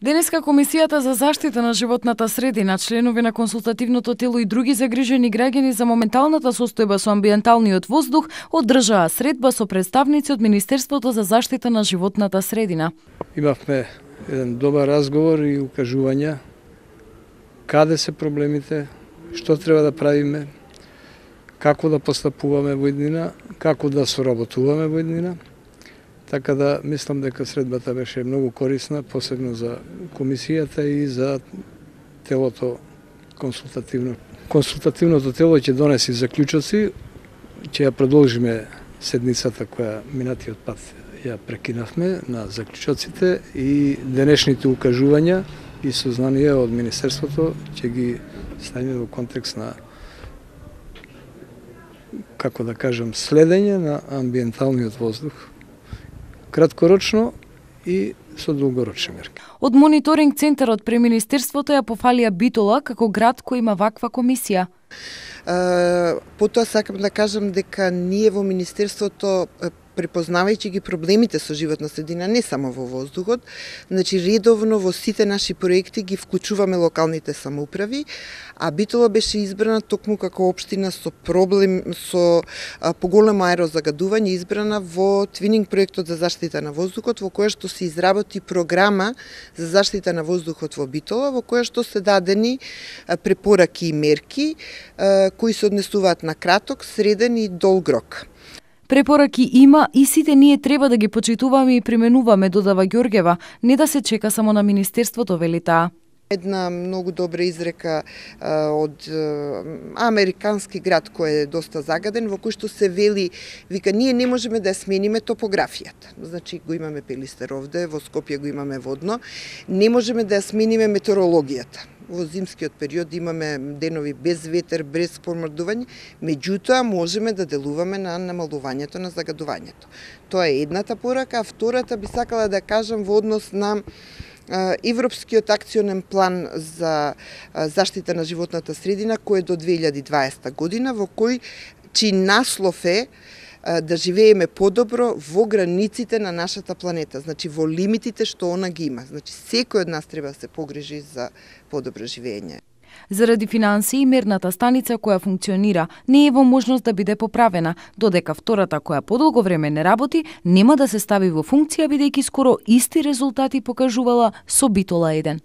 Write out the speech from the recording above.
Денеска Комисијата за заштита на животната средина, членови на консултативното тело и други загрижени граѓани за моменталната состојба со амбиенталниот воздух одржаа средба со представници од Министерството за заштита на животната средина. Имавме еден добар разговор и укажувања каде се проблемите, што треба да правиме, како да постапуваме во иднина, како да соработуваме во иднина. Така да мислам дека средбата беше многу корисна, посебно за комисијата и за телото консултативно. Консултативното тело ќе донеси заклучоци, ќе ја продолжиме седницата која минатиот пат ја прекинавме на заклучоците и денешните укажувања и сознанија од Министерството ќе ги ставиме во контекст на, како да кажам, следење на амбиенталниот воздух, краткорочно и со долгорочни мерки. Од мониторинг центарот при Министерството ја пофалија Битола како град кој има ваква комисија. Потоа сакам да кажам дека ние во Министерството, препознавајќи ги проблемите со животна средина, не само во воздухот, значи редовно во сите наши проекти ги вклучуваме локалните самоуправи, а Битола беше избрана токму како општина со проблем со поголемо аерозагадување, избрана во твининг проектот за заштита на воздухот, во која што се изработи програма за заштита на воздухот во Битола, во која што се дадени препораки и мерки кои се однесуваат на краток, среден и долг рок. Препораки има и сите ние треба да ги почитуваме и применуваме, додава Ѓорѓева, не да се чека само на Министерството, вели таа. Една многу добра изрека од американски град кој е доста загаден, во кој што се вели, вика, ние не можеме да смениме топографијата. Значи, го имаме Пелистер овде, во Скопје го имаме водно, не можеме да смениме метеорологијата. Во зимскиот период имаме денови без ветер, без помрдување, меѓутоа можеме да делуваме на намалувањето на загадувањето. Тоа е едната порака, а втората би сакала да кажам во однос на Европскиот акционен план за заштита на животната средина, кој е до 2020 година, во кој чиј наслов е да живееме подобро во границите на нашата планета, значи во лимитите што она ги има. Значи секој од нас треба да се погрижи за подобро живење. Заради финансии, мерната станица која функционира не е во можност да биде поправена, додека втората која подолго време не работи, нема да се стави во функција бидејќи скоро исти резултати покажувала со Битола 1.